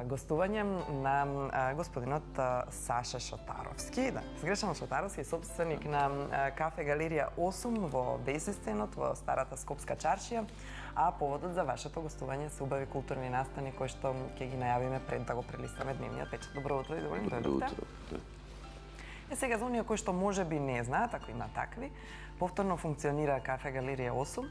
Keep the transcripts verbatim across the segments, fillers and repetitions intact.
гостување на господинот Саша Шотаровски, да, Сгрешан Шотаровски, собственик на кафе Галерија осум во Безистенот во старата Скопска чаршија, а поводот за вашето гостување се убави културни настани кои што ќе ги најавиме пред да го прелистаме дневниот печат. Добро утро и добро дојдовте. Е сега за оние кои што можеби не знаат, ако има такви, повторно функционира кафе Галерија осум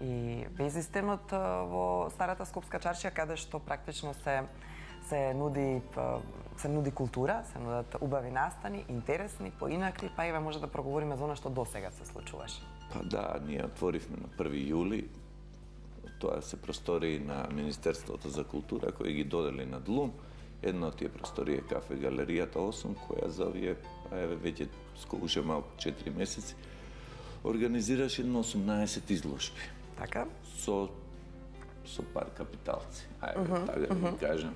и Безистенот во старата Скопска чаршија, каде што практично се се нуди се нуди култура, се нудат убави настани, интересни, поинакви, па еве може да проговориме за она што досега се случуваше. Па да, ние отворивме на први јули. Тоа се простории на Министерството за култура кои ги додели на длум. Една од тие простории е кафе Галеријата осум, која за овие, еве веќе уште малку четири месеци организираше едно осумнаесет изложби. Така? Со со пар капиталци. Ајде, така да ви кажам.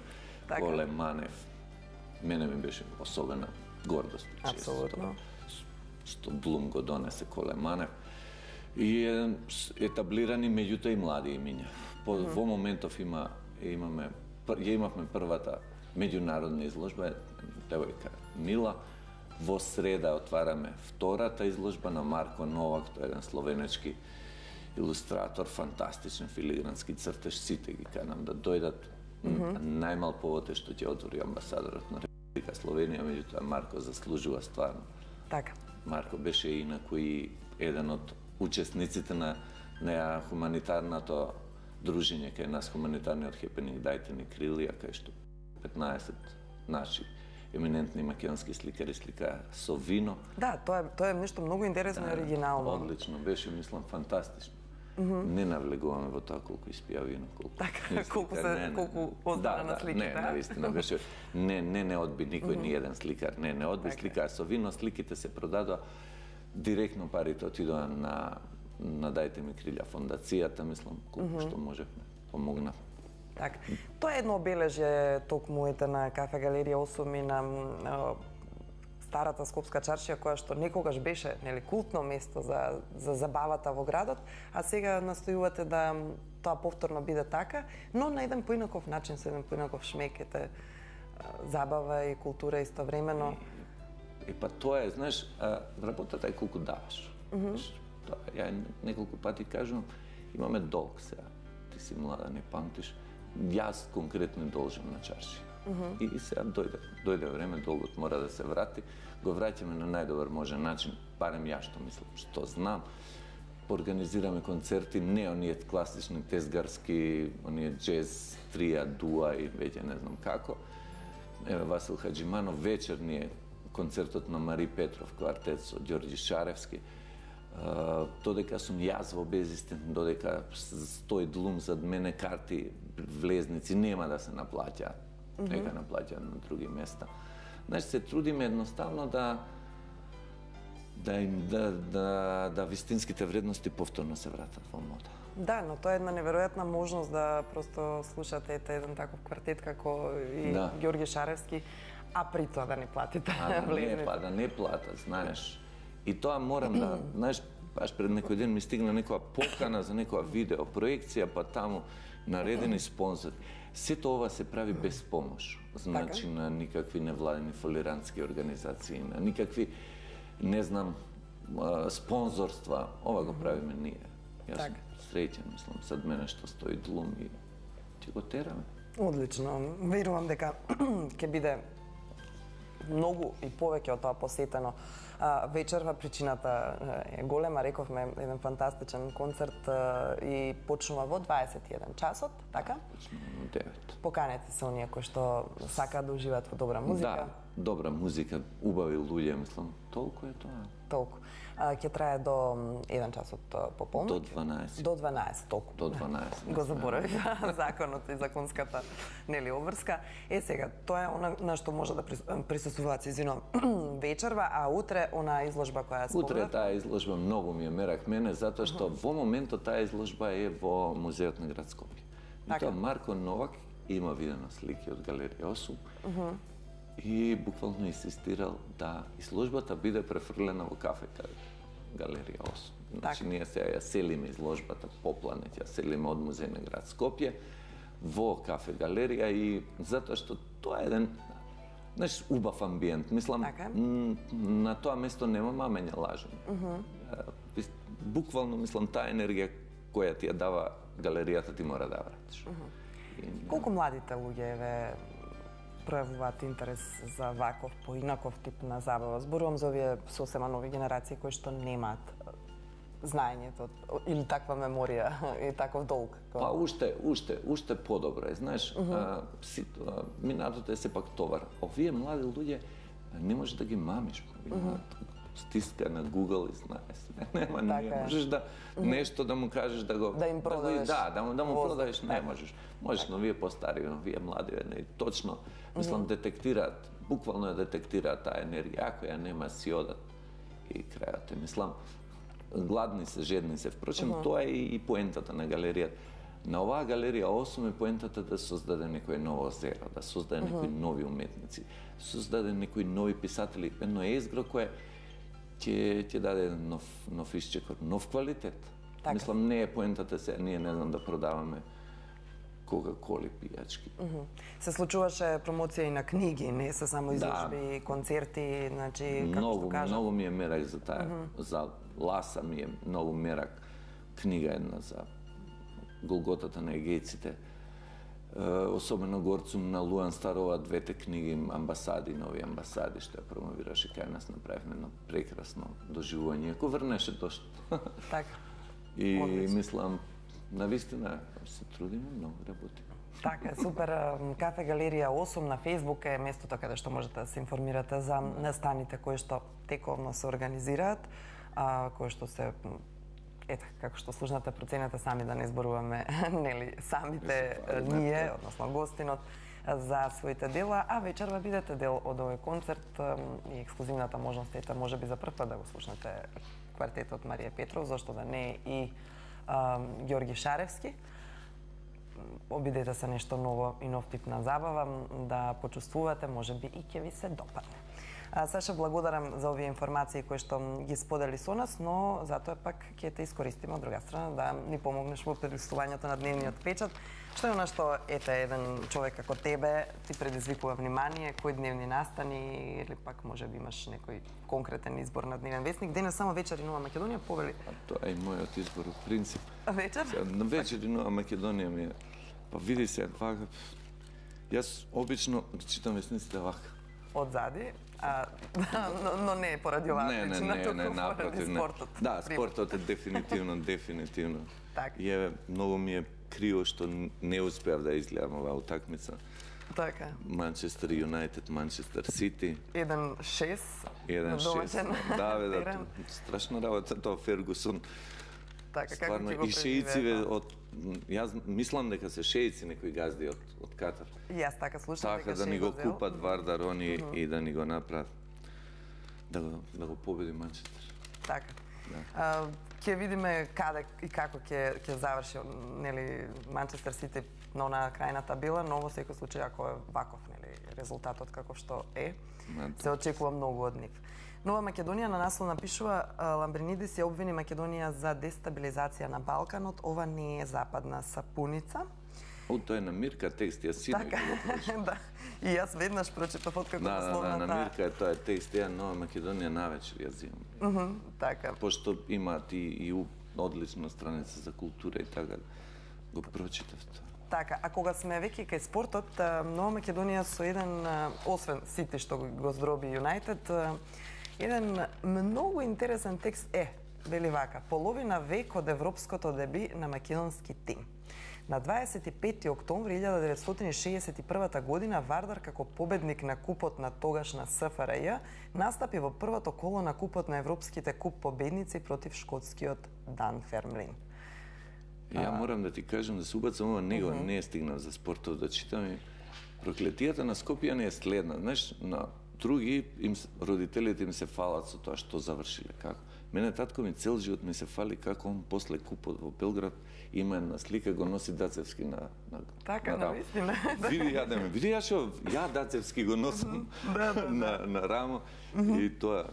Коле Манев, мене ми беше особена гордост. Апсолутно. Што длум го донесе Коле Манев. И е етаблирани меѓутоа и млади имиња. По mm -hmm. во моментов има имаме ја имавме првата меѓународна изложба, девојка Мила. Во среда отвараме втората изложба на Марко Новак, тој е еден словенечки илустратор, фантастичен филигрански цртеж, сите ги канам да дојдат. Mm -hmm. Најмал повод е што ќе отвори амбасадорот на Република Словенија, меѓутоа Марко заслужува стварно. Така. Марко беше инаку и еден од учесниците на, на хуманитарното дружење кај нас, хуманитарниот хепенинг Дајте ни крилија, кај што петнаесет наши еминентни македонски сликари сликаа со вино. Да, тоа е тоа е нешто многу интересно да, и оригинално. Одлично беше, мислам, фантастично. Mm -hmm. Не навлегуваме во тоа колку испија вино, колку. Така, колку се не, не, колку оздана да, на сликите. Да, не, навистина беше не не не одби никој mm -hmm. ни еден сликар, не не одби така. Сликаа со вино, сликите се продадоа директно, парите отидоа на на Дајте ми крилја фондацијата, мислам, колку mm -hmm. што можевме, помогнав. Така. Тоа е едно обележје токму ете на кафе Галерија осум и на старата Скопска чаршија, која што некогаш беше, нели, култно место за за забавата во градот, а сега настојувате да тоа повторно биде така, но на еден поинаков начин, со еден поинаков шмек, ете забава и култура истовремено. И, и па тоа е, знаеш, работата е колку даваш. Mm -hmm. Тоа, ја неколку пати кажувам, имаме долг сега. Ти си млада, не памтиш. Јас конкретно должам на чаршија. Mm -hmm. И, и сега дојде, дојде време, долгот мора да се врати, го враќаме на најдобар можен начин, барем ја што мислам, што знам. Организираме концерти, не оние класични тезгарски, оние джез, трија, дуа и веќе не знам како. Еве Васил Хаџиманов, вечерни е концертот на Мари Петров, квартет со Ѓорѓи Шаревски. Uh, додека сум јас во Безистен, додека стои длум зад мене, карти, влезници нема да се наплаќаат. Mm -hmm. Нека наплаќаат на други места. Значи се трудиме едноставно да да им да да да вистинските вредности повторно се вратат во мода. Да, но тоа е една неверојатна можност да просто слушате ете еден таков квартет како и да. Ѓорѓи Шаревски, а при тоа да не платите влезници. Не, па да не платат, знаеш. И тоа морам да, знаеш, баш пред некој ден ми стигна некоја покана за некоја видео проекција, па таму наредени спонзори. Сето ова се прави без помош. Значи така? На никакви невладени фолирантски организации, на никакви, не знам, спонзорства. Ова го правиме ние. Јас сум среќен, мислам, сад мене што стои длум и ќе го тераме. Одлично. Верувам дека ќе биде многу и повеќе од тоа посетено а, вечерва. Причината е голема, рековме, еден фантастичен концерт а, и почнува во дваесет и еден часот, така? Почнува во девет. Поканете се оние кои што сакаат да уживаат во добра музика. Да, добра музика, убави луѓе, мислам, толку е тоа. Толку. А, ќе трае до еден час од пополнок? До дванаесет. До дванаесет, толку. До дванаесет. Го заборавив законот и законската, нели, обврска. Е, сега, тоа е она на што може да присуствуваат, извинувам, вечерва, а утре она изложба која спомнав? Утре таа изложба многу ми е мерак мене, затоа што uh -huh. во моментот таа изложба е во Музеот на град Скопје. И тоа Марко Новак има видено слики од Галерија осум. Uh -huh. И буквално инсистирал да изложбата биде префрлена во кафе Галерија осум. Значи, ние сега ја селиме изложбата по планет, ја селиме од Музеј на град Скопје во кафе галерија и затоа што тоа е еден, знаеш, убав амбиент. Мислам, Така. на тоа место нема мамење лажење. Мгм. Буквално, мислам, таа енергија која ти ја дава галеријата ти мора да вратиш. И- Колку младите луѓе ве пројавуваат интерес за ваков поинаков тип на забава? Зборувам за овие сосема нови генерации кои што немаат знаењето или таква меморија и таков долг. Па уште, уште, уште подобро е, знаеш, а, си, а, минатото е сепак товар. Овие млади луѓе не можеш да ги мамиш. Имаат стиска на Google и знаеш. Нема, не Така е. можеш да нешто да му кажеш да го Да им да го- продадеш Да, да му да му воздух, продадеш, не така. можеш. Можеш, но вие постари, но вие млади, не, точно, мислам, детектираат, буквално ја детектираат таа енергија, ако ја нема си одат и крајот е, мислам, гладни се, жедни се. Впрочем, тоа е и поентата на галеријата. На оваа галерија осум е поентата да создаде некој ново зеро, да создаде некои нови уметници, создаде некои нови писатели, едно езгро кое ќе ќе даде еден нов нов исчекор, нов квалитет. Така. Мислам, не е поентата се, ние не знам да продаваме кока-коли пијачки. Се случуваше промоција и на книги, не се само изложби, концерти, значи како Многу, што кажа. многу ми е мерак за таа. За Ласа ми е многу мерак книга една за Голготата на егејците. Е, особено горцум на Луан Старова двете книги амбасади, нови амбасади, што ја промовираше кај нас, направивме едно прекрасно доживување. Ако врнеше дошт. Така. И Одлично. мислам, навистина се трудиме, многу работиме. Така, е, супер. Кафе Галерија осум на Facebook е местото каде што можете да се информирате за настаните кои што тековно се организираат, а, кои што се ето, како што слушнате, проценете сами да не зборуваме, нели, самите ние, односно гостинот, за своите дела, а вечерва бидете дел од овој концерт и ексклузивната можност ете можеби за прв пат да го слушнете квартетот Марија Петров, зашто да не и а, Ѓорги Шаревски. Обидете се нешто ново и нов тип на забава, да почувствувате, можеби и ќе ви се допадне. А, Саша, благодарам за овие информации кои што ги сподели со нас, но затоа пак ќе те искористиме од друга страна да ни помогнеш во прилистувањето на дневниот печат. Што е она што ете еден човек како тебе ти предизвикува внимание, кои дневни настани или пак можеби имаш некој конкретен избор на дневен весник? Денес само вечер и Нова Македонија повели. А тоа е и мојот избор, од принцип. Вечер? Сега, на вечер и Нова Македонија ми е, па види се, вака, јас обично читам весниците вака. Одзади, а, но, но не поради оваа Не, не, причина, не, туку не, поради напротив, не. спортот. Да, пример. спортот е дефинитивно, дефинитивно. Така. И еве, многу ми е криво што не успеав да изгледам оваа утакмица. Така. Манчестер Юнајтед, Манчестер Сити. еден шест еден шест. домашен Да, бе, да, терен. страшна работа тоа Фергусон. Така, како Стварно, ќе го и шеициве преживеат? од јас мислам дека се шеици некои газди од од Катар. И јас така слушам Така дека да ни го Шеј зел. купат Вардар они и да ни го направат. Да го да го победи Манчестер. Така. А, ќе видиме каде и како ќе ќе заврши нели Манчестер Сити на онаа крајна табела, но во секој случај ако е ваков нели резултатот каков што е, Ма, да. се очекува многу од нив. Нова Македонија на наслов напишува а, Ламбринидис ја обвини Македонија за дестабилизација на Балканот, ова не е западна сапуница. О, тоа е на Мирка текст, јас синоќ Така, го прочитав. да. И јас веднаш прочитав откако Да, да, да, насловната. на Мирка е тоа е текст, ја Нова Македонија навечер ја земам. Мгм, така. Пошто имаат и, и у- одлична страница за култура и така, го прочитав тоа. Така, а кога сме веќе кај спортот, а, Нова Македонија со еден, а, освен Сити што го- го здроби Юнајтед, а, еден многу интересен текст е, вели вака, половина век од европското деби на македонски тим. На дваесет и пети октомври илјада деветстотини шеесет и прва година Вардар како победник на купот на тогашна С Ф Р Ј настапи во првото коло на купот на европските куп победници против шкотскиот Данфермлин. И ја морам да ти кажам да се убацам ова него, не е стигнав за спортот да читам и проклетијата на Скопје не е следна. Знаеш, на други им се- родителите им се фалат со тоа што завршиле како. Мене татко ми цел живот ми се фали како он после купот во Белград има една слика го носи Дацевски на на Така, на рамо. навистина. Види ја да ме, види ја што ја Дацевски го носам Да, да, на на рамо и тоа.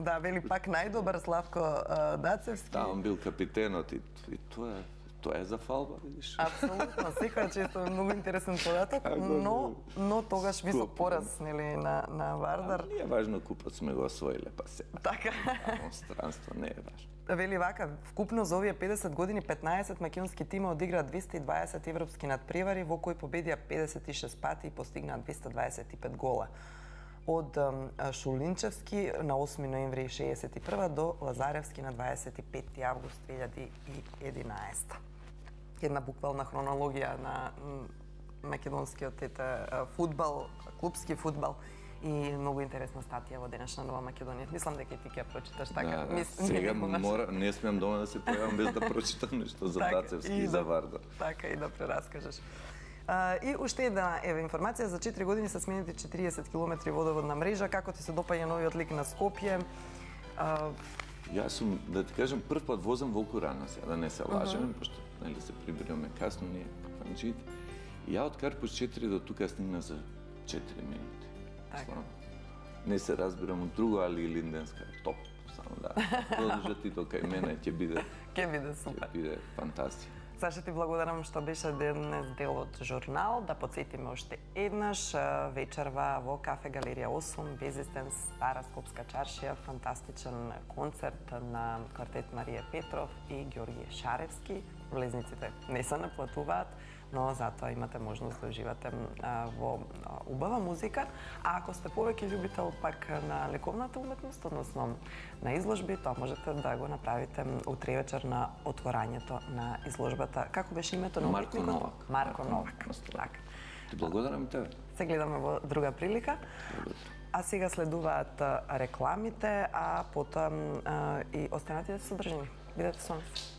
Да, вели пак најдобар Славко а, Дацевски. Да, он бил капитенот и, и тоа е Тоа е за фалба, видиш? Апсолутно, секоја често е многу интересен податок, но но тогаш висок пораз, нели, на на Вардар. Не е важно купот сме го освоиле, па се. Така. Странство не е важно. Вели вака, вкупно за овие педесет години петнаесет македонски тима одиграа двесте и дваесет европски надпревари, во кои победија педесет и шест пати и постигнаа двесте дваесет и пет гола. Од Шулинчевски на осми ноември шеесет и прва до Лазаревски на дваесет и пети август две илјади и единаесета. Една буквална хронологија на македонскиот ете фудбал, клупски фудбал и многу интересна статија во денешна Нова Македонија. Мислам дека и ти ќе прочиташ така. Да, Мис... сега мора, не смеам дома да се појавам без да прочитам нешто за така, Дацевски и, и за Вардар. Така и да прераскажеш. Uh, и уште една ева информација, за четири години се сменети четириесет километри водоводна мрежа. Како ти се допаѓа новиот лик на Скопје? Uh... Јас сум, да ти кажам, прв пат возам волку рано сега, да не се лажеме, uh -huh. пошто нели се прибираме касно, ние фанџиите. И ја од Карпуш четири до тука стигна за четири минути. Така. Не се разбирам од друго, али Линденска е топ. Само да додржат и тоа кај мене ќе биде ќе биде супер. Ќе биде фантастично. Саша, ти благодарам што беше денес дел од журнал. Да подсетиме уште еднаш вечерва во Кафе Галерија осум, безистен Стара Скопска чаршија, фантастичен концерт на квартет Марија Петров и Ѓорѓе Шаревски. Влезниците не се наплатуваат, но затоа имате можност да уживате во убава музика. А ако сте повеќе љубител пак на лековната уметност, односно на изложби, тоа можете да го направите утре вечер на отворањето на изложбата. Како беше името на уметникот? Марко Новак. Марко Новак. Така. Ти благодарам тебе. Се гледаме во друга прилика. А сега следуваат рекламите, а потоа и останатите содржини. Бидете со нас.